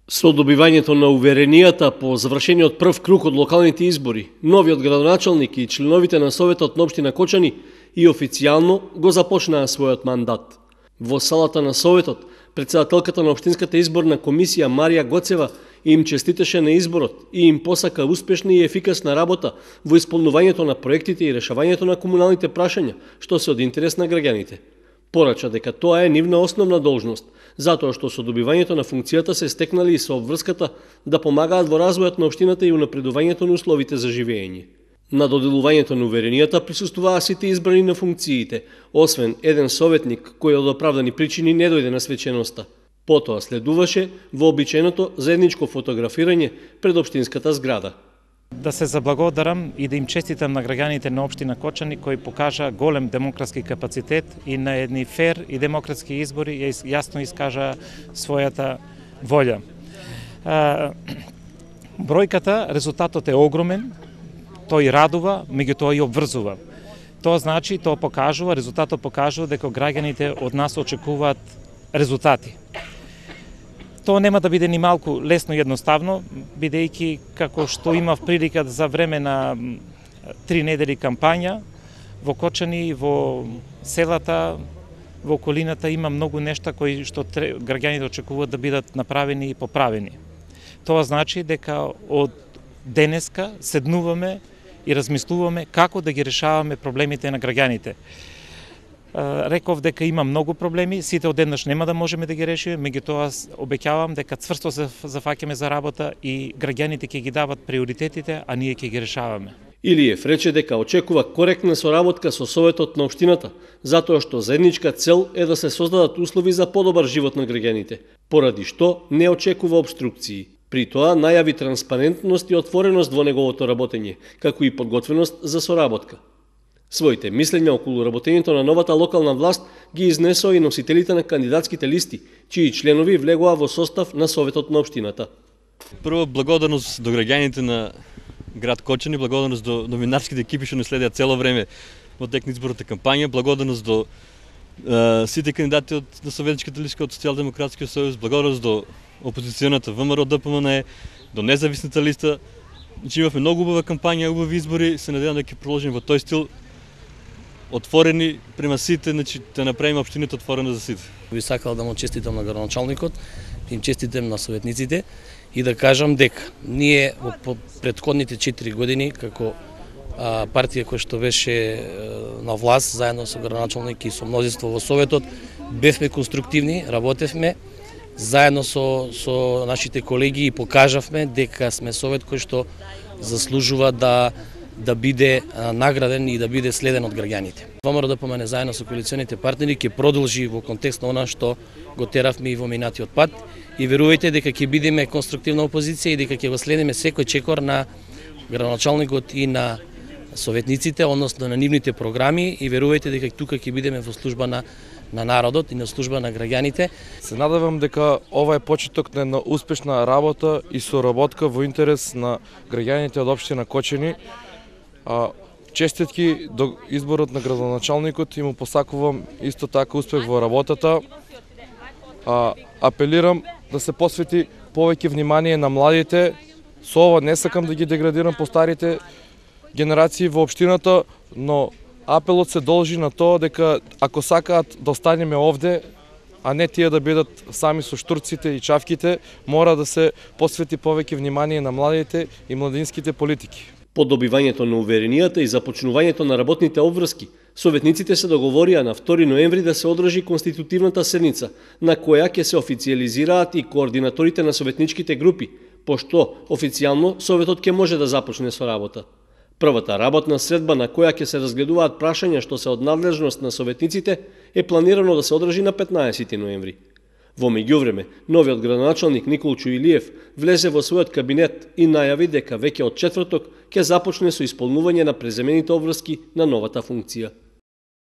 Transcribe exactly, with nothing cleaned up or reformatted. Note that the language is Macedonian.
Со добивањето на уверенијата по завршениот прв круг од локалните избори, новиот градоначалник и членовите на Советот на општина Кочани и официјално го започнаа својот мандат. Во салата на Советот, председателката на Општинската изборна комисија Марија Гоцева им честитеше на изборот и им посака успешна и ефикасна работа во исполнувањето на проектите и решавањето на комуналните прашања, што се од интерес на граѓаните. Порача дека тоа е нивна основна должност, затоа што со добивањето на функцијата се стекнали и со обврската да помагаат во развојот на општината и унапредувањето на условите за живење. На доделувањето на уверенијата присуствуваа сите избрани на функциите, освен еден советник кој од оправдани причини не дојде на свеченоста. Потоа следуваше вообичаеното заедничко фотографирање пред општинската зграда. Да се заблагодарам и да им честитам на граѓаните на општина Кочани кои покажа голем демократски капацитет и на едни фер и демократски избори јасно искажа својата волја. Бројката, резултатот е огромен, тој радува, меѓутоа и обврзува. Тоа значи, тоа покажува, резултатот покажува дека граѓаните од нас очекуваат резултати. Тоа нема да биде ни малку лесно и едноставно, бидејќи како што имав прилика за време на три недели кампања во Кочани, во селата, во околината има многу нешта кои што граѓаните очекуваат да бидат направени и поправени. Тоа значи дека од денеска седнуваме и размислуваме како да ги решаваме проблемите на граѓаните. Реков дека има многу проблеми, сите одеднаш нема да можеме да ги решиме, меѓутоа обеќавам дека цврсто се зафаќаме за работа и граѓаните ќе ги дават приоритетите, а ние ќе ги решаваме. Илиев рече дека очекува коректна соработка со Советот на општината, затоа што заедничка цел е да се создадат услови за подобар живот на граѓаните, поради што не очекува обструкции. При тоа најави транспарентност и отвореност во неговото работење, како и подготвеност за соработка. Своите мислења околу работењето на новата локална власт ги изнесоа и носителите на кандидатските листи, чии членови влегоа во состав на Советот на општината. Прво, благодарност до граѓаните на град Кочани, благодарност до новинарските екипи што не следеа цело време во тек на изборната кампања, благодарност до е, сите кандидати од на советничката листа од Социјалдемократскиот сојуз, благодарност до опозиционата ВМРО ДПМН, до независната листа. Значи имавме многу убава кампања, убави избори, се надевам дека ќе продолжиме во тој стил, отворени према сите, значи да направиме општината отворена за сите. Би сакал да му честитам на градоначалникот, да им честитам на советниците и да кажам дека ние во претходните четири години како а, партија која што беше а, на власт заедно со градоначалник и со мнозинство во Советот, бевме конструктивни, работевме заедно со со нашите колеги и покажавме дека сме совет кој што заслужува да да биде а, награден и да биде следен од граѓаните. ВМРО ДПМН заедно со коалиционите партнери ќе продолжи во контекст на она што го теравме и во минатиот пат и верувајте дека ќе бидеме конструктивна опозиција и дека ќе го следиме секој чекор на градоначалникот и на советниците, односно на нивните програми и верувајте дека тука ќе бидеме во служба на на народот и на служба на граѓаните. Се надевам дека ова е почеток на една успешна работа и соработка во интерес на граѓаните од општина Кочани. Честитки до изборот на градоначалникот и му посакувам исто така успех во работата. Апелирам да се посвети повеќе внимание на младите. Со ова не сакам да ги деградирам по старите генерации во општината, но апелот се должи на тоа дека ако сакаат да останеме овде, а не тие да бидат сами со штурците и чавките, мора да се посвети повеќе внимание на младите и младинските политики. По добивањето на уверенијата и започнувањето на работните обврски, советниците се договорија на втори ноември да се одржи конститутивната седница, на која ќе се официјализираат и координаторите на советничките групи, пошто официјално Советот ќе може да започне со работа. Првата работна средба на која ќе се разгледуваат прашања што се од надлежност на советниците е планирано да се одржи на петнаесети ноември. Во меѓувреме, новиот градоначалник Николчо Илиев влезе во својот кабинет и најави дека веќе од четврток ќе започне со исполнување на преземените обврски на новата функција.